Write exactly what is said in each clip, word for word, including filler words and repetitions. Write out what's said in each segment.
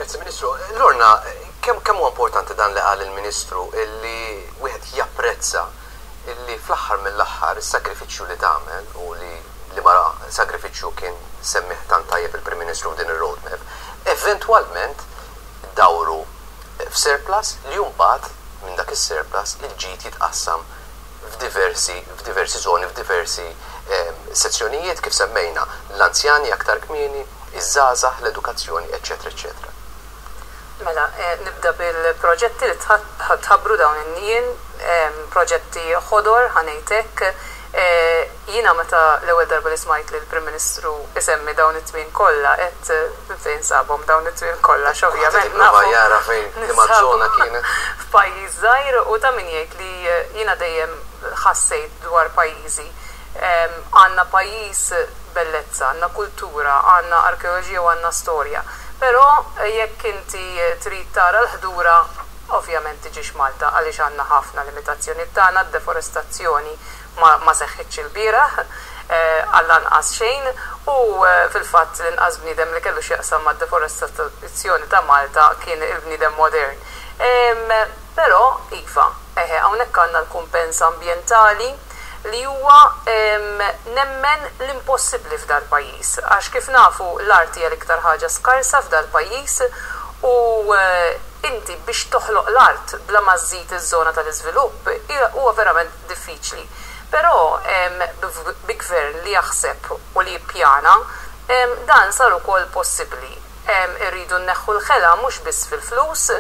Grazzi, Ministru. Lorna, kemm kemm huwa importanti dan li qal il-Ministru, illi wieħed japprezza illi fl-aħħar mill-aħħar is-sagrifiċċju li tagħmel, u li li mara sagrifiċċju kien semmih tant tajjeb il-Prim Ministru f'din ir-roadmap, eventwalment dawru f'surplus li mbagħad minn dak is-surplus il-ġid jitqassam f'diversi f'diversi zoni, f'diversi eh, sezzjonijiet, kif semmejna l-anzjani aktar kmieni, iż-żgħażagħ, l-edukazzjoni, eċċetera, eċċetera? Mela, eh, nibda bil-proġetti li tħabbru dawn in-nien, proġetti ħodor, ħa ngħidlek. Eh, jiena meta l-ewwel darba li smajt li l-Prim Ministru isemmi dawn it-tmien kollha, qed fejn sabhom dawn it-tmien kollha, x'ovvjament nafu. Jara fejn liema żona kienet. F'pajjiż żgħir, u ta' min jgħid li jiena dejjem ħassejt dwar pajjiżi. Għandna pajjiż bellezza, għandna kultura, għandna arkeoloġija u għandna storja. Però jekk inti trid tara l-ħdura, ovvjament tiġix Malta, għaliex għandna ħafna limitazzjoni tagħna, deforestazzjoni ma, ma seħħitx il-bieraħ, eh, għall-anqas xejn, u eh, fil-fatt l-inqas bniedem li kellu x'jaqsam ma' deforestazzjoni ta' Malta kien il-bniedem modern. Però, iva, eħe, hawnhekk għandna l-kumpens ambjentali li huwa nemmen l-impossibbli f'dal pajjiż. Għax kif nafu, l-art hija l-iktar ħaġa skarsa f'dal pajjiż u eh, inti biex toħloq l-art bla ma żżid iż-żona tal-iżvilupp huwa verament diffiċli. Però bi gvern li jaħseb u li jippjana, dan sar ukoll possibbli. Irridu nneħħu l-ħela mhux biss fil-flus,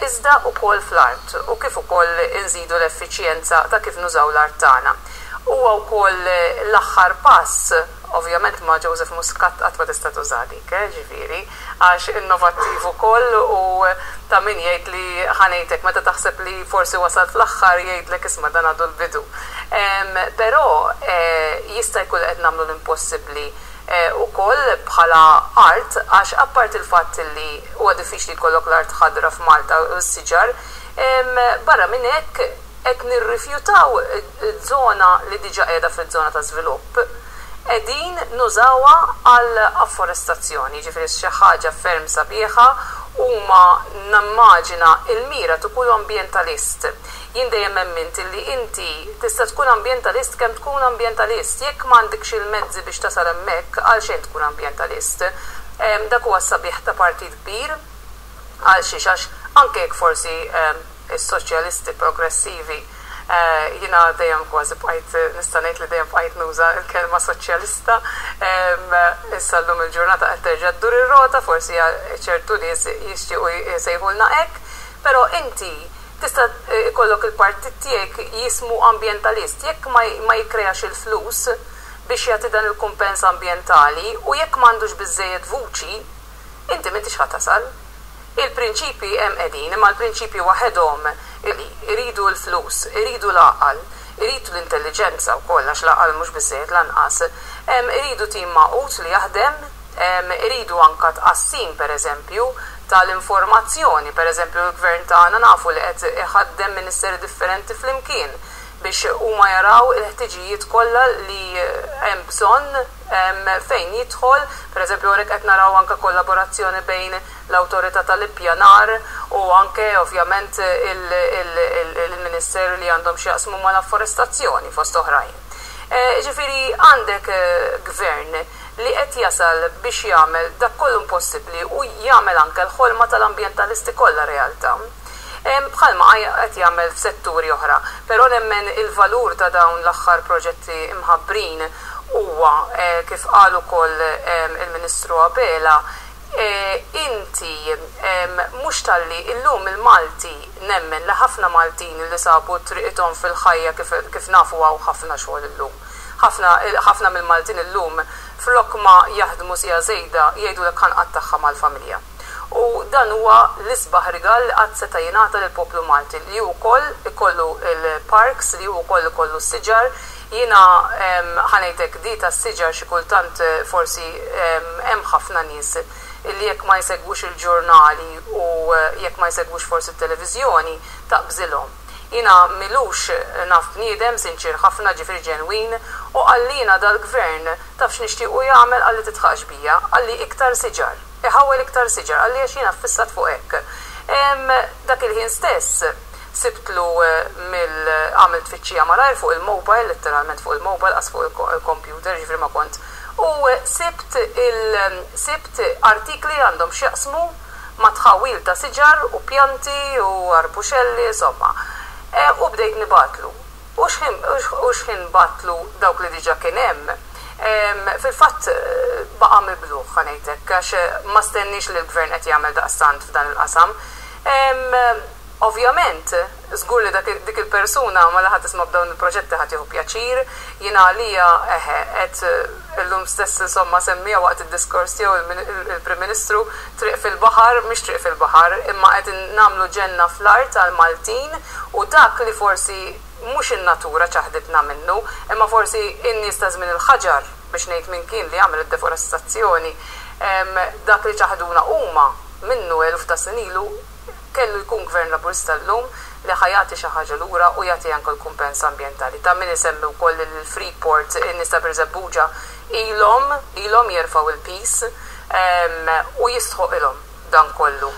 iżda ukoll fl-art u kif ukoll inżidu l-effiċjenza ta' kif nużaw l-art tagħna. Huwa wkoll l-aħħar pass, ovvjament ma' Joseph Muscat qatt ma tista' tuża dik, eh, ġifieri, għax innovattiv ukoll, u ta' min jgħid li, ħa ngħidlek, meta taħseb li forsi wasal fl-aħħar, jgħidlek, "Isma', dan għadu l-bidu." Però eh, jista' jkun qed nagħmlu l-impossibbli eh, ukoll bħala art, għax apart il-fatt li huwa diffiċli jkollok l-art ħadra f'Malta u s-siġar, barra minn hekk qed nirrifjutaw żona li diġà qiegħda fiż-żona ta' żvilupp, qegħdin nużawha għal afforestazzjoni, ġifieri xi ħaġa ferm sabiħa. Huma nammaġina il-mira tkun ambjentalist. Jien dejjem emmint li inti tista' tkun ambjentalist kemm tkun ambjentalist. Jekk m'għandekx il-mezzi biex tasal hemmhekk, għal xejn tkun ambjentalist. Dak huwa sabiħ ta' partit kbir, għal xiex, għax anke jekk forsi is-soċjalisti progressivi, Eh, jiena dejjem kważi bqajt, nista' ngħid li dejjem bqajt nuża l-kelma soċjalista. Issa llum il-ġurnata qed terġa' ddur ir-rota, forsi ċertu nies jixtiequ jsejħulna hekk, però inti tista' ikollok il-partit tiegħek jismu ambjentalist, jekk ma jikkreax il-flus biex jagħti dan il-kumpens ambjentali u jekk m'għandux biżejjed vuċi, inti m'intix ħa tasal. Il-prinċipi hemm qegħdin, imma l-prinċipi waħedhom iridu l-flus, iridu l-għaqal, iridu l-intelligenza wkoll, għax l-għaqal mhux biżejjed lanqas. Iridu tim magħqud li jaħdem, iridu anka tqassim, pereżempju, tal-informazzjoni, pereżempju l-gvern tagħna nafu li qed iħaddem ministeri differenti flimkien biex huma jaraw il-ħtiġijiet kollha li hemm bżonn fejn jidħol, pereżempju hawnhekk qed naraw anke kollaborazzjoni bejn l-awtorità tal-ippjanar u anke ovvjament il-ministeri li għandhom x'jaqsmu mal-afforestazzjoni, fost oħrajn. Eh, ġifieri għandek eh, gvern li qed jasal biex jagħmel dak kollu impossibbli u jagħmel anke l-ħolma tal-ambjentalisti kollha realtà. Bħalma qed jagħmel f'setturi oħra. Però nemmen il-valur ta' dawn l-aħħar proġetti imħabbrin huwa, eh, kif qal ukoll il-Ministru Abela, inti mhux talli illum il-Malti, nemmen li ħafna Maltin li sabu triqithom fil-ħajja, kif nafu hawn ħafna xogħol illum. Ħafna mill-Maltin illum flok ma jaħdmu siegħa żejda jgħidu ħa nqattagħha mal-familja. U dan huwa l-isbaħ rigal li qatt seta' jingħata lill-poplu Malti, li wkoll ikollu il-parks, li wkoll ikollu s-siġar. Jiena ħa ngħidlek, di tas-siġar xi kultant forsi hemm ħafna nies illi jekk ma jsegwux il-ġurnali u jekk ma jsegwux forsi t-televiżjoni taqbżilhom. Jiena m'ilux naf bniedem sinċir ħafna, ġifieri ġenwin, u qalli, "Jiena dal-gvern taf x'nixtiequ jagħmel?" Qalli, "Tidħaqx bija," qalli, "iktar siġar." iħawwel iktar siġar, għalli għax jiena ffissat fuq hekk. Dak il-ħin stess sibtlu mill għamilt tfittxija malajr fuq il-mobile, letteralment fuq il-mobile, qas fuq il-computer, ġifieri ma kont. U sibt il sibt artikli għandhom x'jaqsmu ma' tħawil ta' siġar u pjanti u arbuxelli, insomma. U bdejt nibgħatlu. U x'ħin bgħattlu dawk li diġà kien hemm, fil-fatt baqa' mibluh, ħa ngħidlek, għax ma stenniex li l-gvern qed jagħmel daqstant f'dan il-qasam. Ovvjament, żgur li dik il-persuna ma laħat tisma' b'dawn il-proġetti ħadd jieħu pjaċir, jiena għalija eħe qed illum stess insomma semmija waqt id-diskors tiegħu il-Prim Ministru triq fil-baħar, mhix triq fil-baħar, imma qed nagħmlu ġenna fl-art għal-Maltin u dak li forsi mhux in-natura ċaħditna minnu, imma forsi in-nies ta' żmien il-ħaġar, biex ngħid min kien li għamel id-deforestazzjoni, dak li ċaħduna huma minnu eluf ta' snin ilu, kellu jkun gvern Laburista llum li ħa jagħti xi ħaġa lura u jagħti anke l-kumpens ambjentali. Ta' min isemmi wkoll il-Freeport, in-nies ta' Birżebbuġa ilhom ilhom jerfgħu il-piż u jistħoq ilhom dan kollu.